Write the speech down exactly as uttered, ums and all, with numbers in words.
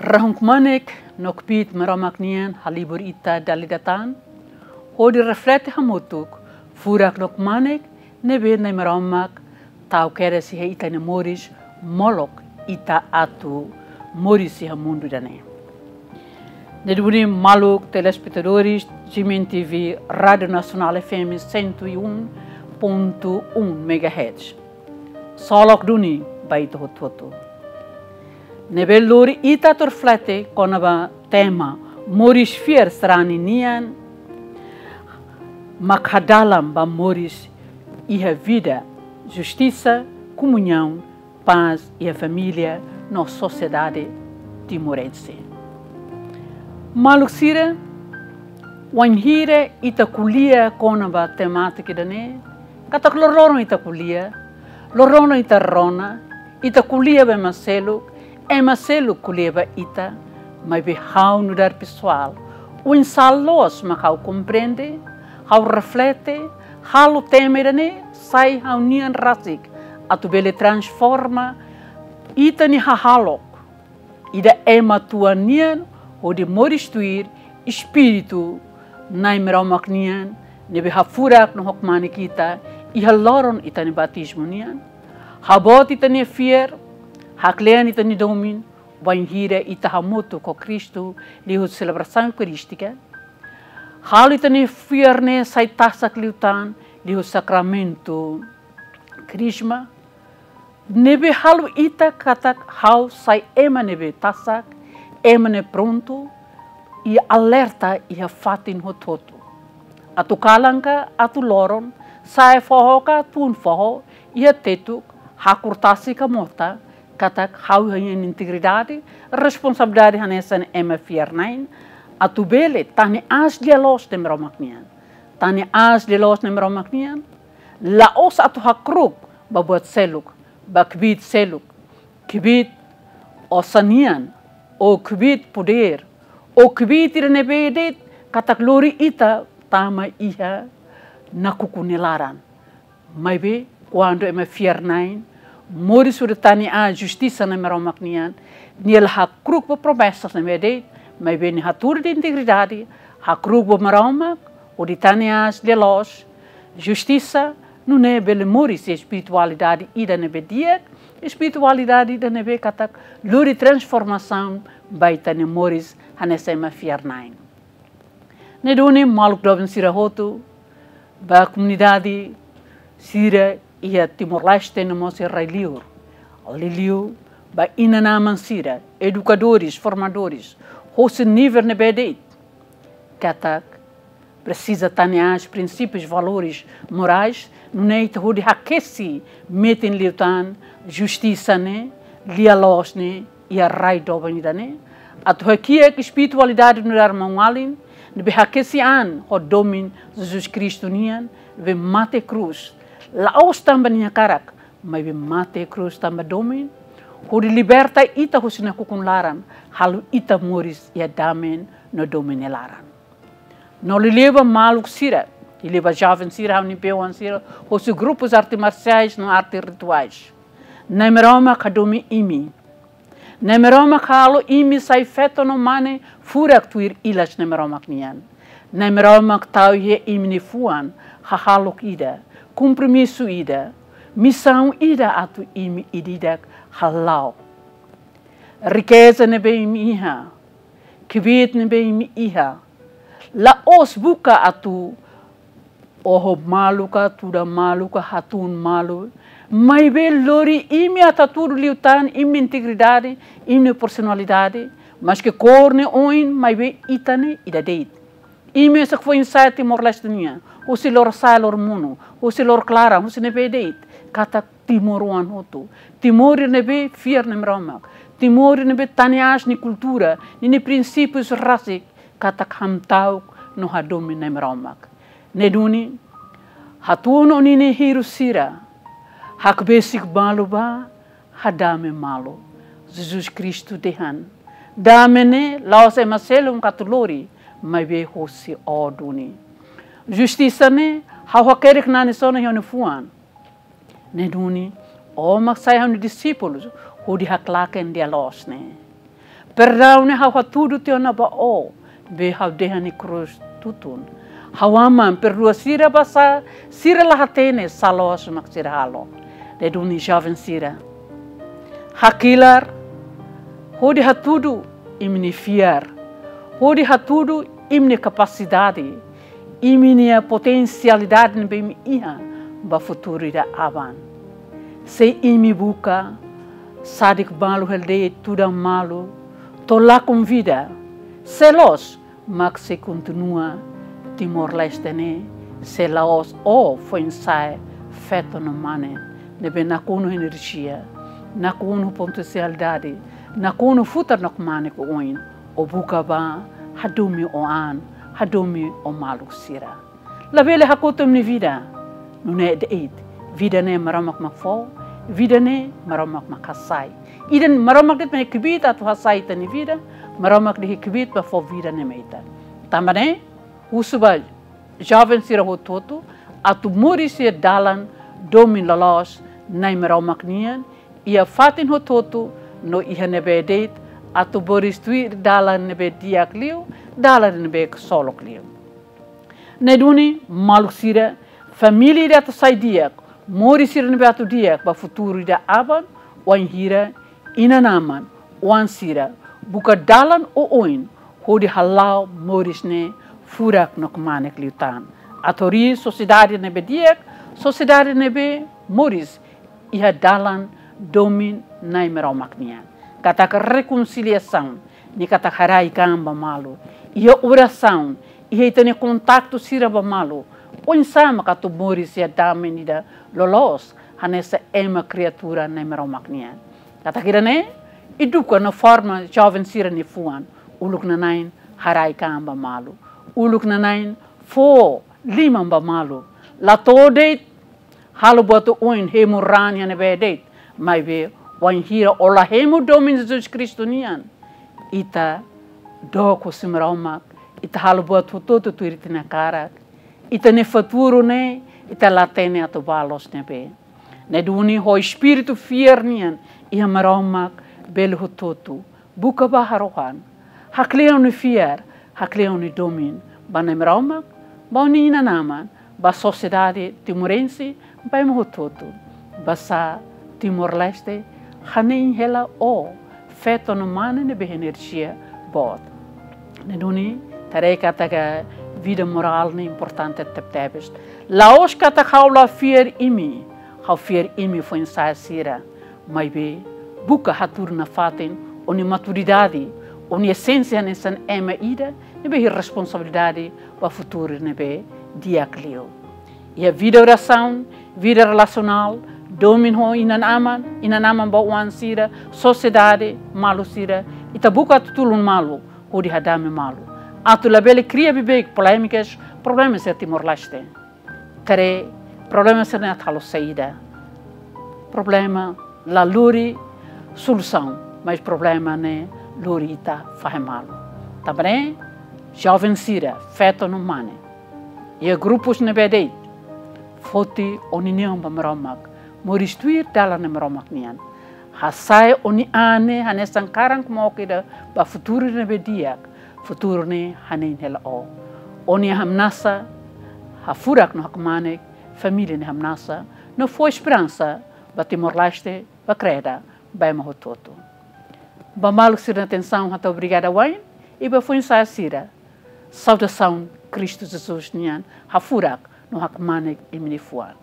Rahun kmanek no kbiit Maromak nian halibur ita dala ida tan, hodi reflete hamutuk furak no kmanek ne'ebé Nai Maromak tau kedas iha ita-nia moris, molok ita atu moris iha mundu ida-ne'e. Ne'e duni maluk telespetadores G M N T V, Rádio Nacional F M cento e um ponto um megahertz. Solok duni ba ita hotu-hotu. Ne'ebé lori ita atu reflete kona-ba tema moris fiar sarani nian mak hadalan ba moris iha vida, justisa, komuñaun, pás iha família no sosiedade timorense. Maluk sira, wainhira ita ko'alia kona-ba temátika ida-ne'e, katak loroloron ita ko'alia, loroloron ita rona, ita ko'alia ba ema seluk, ema seluk ko'alia ba ita, maibé ha'u nu'udar pesoál, oinsá loos mak ha'u komprende, ha'u reflete, halo tema ida-ne'e sai ha'u-nian rasik, atu bele transforma ita-nia hahalok ida ema tuan nian, hodi moris tuir espíritu Nai Maromak nian, ne'ebé hafurak no hakmanek ita iha loron ita-nia batizmu nian. Haboot ita-nia fiar, haklean ita-nia domin, wainhira ita hamutuk ho Kristu liuhusi selebrasaun eukarístika. Halo ita-nia fiar ne'e sai tasak liután liuhusi sakramentu Krisma. Ne'ebé halo ita katak ha'u sai ema ne'ebé tasak, ema ne'e prontu, i alerta iha fatin hotu-hotu. Atu kalan ka atu loron, sa'e foho ka tun foho, iha tetuk, hakur tasi ka mota, katak ha'u iha ha'u-nia integridade, responsabilidade hanesan ema fiar-na'in, atu bele tane aas lia-loos Nai Maromak nian. Tane aas lia-loos Nai Maromak nian, la'ós atu hakru'uk ba buat seluk, ba kbiit seluk, kbiit osan nian, ou kbiit podér, ou kbiit ida ne'ebé de'it katak lori ita tama iha nakukun nia laran. Maibé, kuandu ema fiar-na'in, moris hodi tane aas justisa Nai Maromak nian, nia la hakru'uk ba promesas ne'ebé de'it, maibé nia hatudu nia integridade, hakru'uk ba Maromak, hodi tane aas lia-loos, justisa, nune'e bele moris espiritualidade ida ne'ebé di'ak, espiritualidade ida ne'ebé katak lori transformasaun ba ita-nia moris hanesan ema fiar-na'in. Ne'e duni maluk doben sira hotu, ba komunidade sira iha Timor-Leste no mós iha rai-liur. Liuliu ba inan-aman sira, edukadores, formadores, hosi nivel ne'ebé de'it. Katak presiza tane aas prinsípius, valores morais, nune'e ita hodi hakesi metin liután justisa ne'e, lia-loos ne'e, iha rai doben ida-ne'e. Atu hakiak espiritualidade nu'udar maun-alin, ne'ebé hakesi an ho domin Jesus Kristu nian, ne'ebé mate iha krús. La'ós tanba nia hakarak, maibé mate iha krús tanba domin, hodi liberta ita husi nakukun laran, halo ita moris iha dame no domin nia laran. No liuliu ba maluk sira, liuliu ba joven sira, ha'u-nia be-oan sira, hosi grupus arte marsiais no arte rituais. Nai Maromak hadomi imi. Nai Maromak halo imi sai feto no mane furak tuir ilas Nai Maromak nian. Nai Maromak tau iha imi-nia fuan hahalok ida, kompromisu ida, misaun ida atu imi ida-idak hala'o. Rikeza ne'ebé imi iha, kbiit ne'ebé imi iha, la'ós buka atu oho malu ka, tuda malu ka, hatún malu. Maibé lori imi atu hatudu liután imi-nia integridade, imi-nia personalidade, maske kór ne'e oin, maibé ita ne'e ida de'it. Imi mesak foin-sa'e Timor-Leste nian, husi lorosa'e loromonu, husi lorokraran, husi ne'ebé de'it, katak timoroan hotu. Timor ida ne'ebé fiar Nai Maromak. Timor ida ne'ebé tane aas nia kultura, ninia prinsípius rasik, katak hamta'uk no hadomi Nai Maromak. Ne'e duni, hatún ó-nia hirus sira, hakbesik malu bá, hadame malu. Jesus Kristu dehan: Dame ne'e la'ós ema seluk mak atu lori, maibé hosi ó duni. Justisa ne'e, ha'u hakerek nanis ona iha ó-nia fuan. Ne'e duni, ó mak sai ha'u-nia dixípulus, hodi haklaken lia-loos ne'e. Perdaun ne'e ha'u hatudu tiha ona ba Ó, be ha'u dehan iha krús tutun. Ha'u Aman, perdua sira basá sira la hatene sá loos mak sira halo. Ne'e duni joven sira, hakilar hodi hatudu imi-nia fiar, hodi hatudu imi-nia kapasidade, imi-nia potensialidade ne'ebé imi iha ba futuru ida aban. Se imi buka sadik malu hela de'it, tudan malu, to'o lakon vida, sé loos mak sei kontinua Timor-Leste ne'e, se la'ós Ó foin-sa'e feto no mane ne'ebé nakonu enerjia, nakonu potensialidade, nakonu futar no kmanek oioin, Ó buka bá hadomi Ó an, hadomi Ó maluk sira. Labele hakotu imi-nia vida. Nune'e de'it, vida ne'e Maromak mak fó, vida ne'e Maromak mak hasai. Ida-ne'e Maromak de'it mak iha kbiit atu hasai ita-nia vida, Maromak de'it iha kbiit ba fó vida ne'e mai ita. Tanba ne'e, husu ba joven sira hotu-hotu atu moris iha dalan domin loloos Na'i Maromak nian, iha fatin hotu-hotu no iha ne'ebé de'it, atu moris tuir dalan ne'ebé di'ak liu, dalan ne'ebé ksolok liu. Ne'e duni maluk sira, família ida atu sai di'ak, moris sira ne'ebé atu di'ak ba futuru ida aban, wainhira inan-aman, oan sira buka dalan oioin hodi hala'o moris ne'e furak no kmanek liután. Atu harii sosiedade ne'ebé di'ak, sosiedade ne'ebé moris iha dalan domin Na'i Maromak nian. Katak rekonsiliasaun, ne'e katak haraik an ba malu. Iha orasaun, iha ita-nia kontaktu sira ba malu, oinsá mak atu moris iha damin ida loloos hanesan ema kriatura Na'i Maromak nian. Katak ida-ne'e, eduka no forma joven sira-nia fuan, uluk nanain haraik an ba malu, uluk nanain fó liman ba malu. La to'o de'it halo buat oioin, hemu raan iha ne'ebé de'it, maibé wainhira ó la hemu domin Jesus Kristu nian, ita dook husi Maromak, ita halo buat hotu-hotu tuir ita-nia hakarak, ita-nia futuru ne'e ita la hatene atu bá loos ne'ebé. Ne'e duni ho espíritu fiar nian iha Maromak bele hotu-hotu, buka bá harohan. Hakle'an ó-nia fiar, hakle'an ó-nia domin ba Na'i Maromak, ba ó-nia inan-aman, ba sosiedade timorense, ba ema hotu-hotu. Basá Timor-Leste hanein hela ó, feto no mane ne'ebé iha enerjia boot. Ne'e duni, ita haree katak vida morál ne'e importante tebetebes. La'ós katak ha'u la fiar imi, ha'u fiar imi foin-sa'e sira. Maibé, buka hatudu nafatin ó-nia maturidade, ó-nia esénsia hanesan ema ida ne'ebé iha responsabilidade ba futuru ne'ebé di'ak liu. Iha vida orasaun, vida relasionál, domin ho inan-aman, inan-aman ba oan sira, sosiedade, malu sira, ita buka atu tulun malu, hodi hadame malu. Atu labele kria beibeik polémikas, problema sira Timor-Leste. Ita haree, problema sira-ne'e atu halo saida? Problema la lori solusaun, mas problema ne'e lori ita fahe malu. Tanba ne'e, joven sira, feto no mane, iha grupus ne'ebé de'it, foti ó-nia neon ba Maromak, moris tuir dalan ne'e Maromak nian. Hasa'e ó-nia an ne'e hanesan karan kmoke ida ba futuru ne'ebé di'ak, futuru ne'e hanein hela ó. Ó-nia hamnasa hafurak no hakmanek família nia hamnasa, no fó esperansa ba Timor-Leste, ba Kreda, ba ema hotu-hotu. Ba maluk sira-nia atensaun hato'o obrigada wa'in, i ba foin-sa'e sira, saudasaun Kristu Jesus nian hafurak no hakmanek iha imi-nia fuan.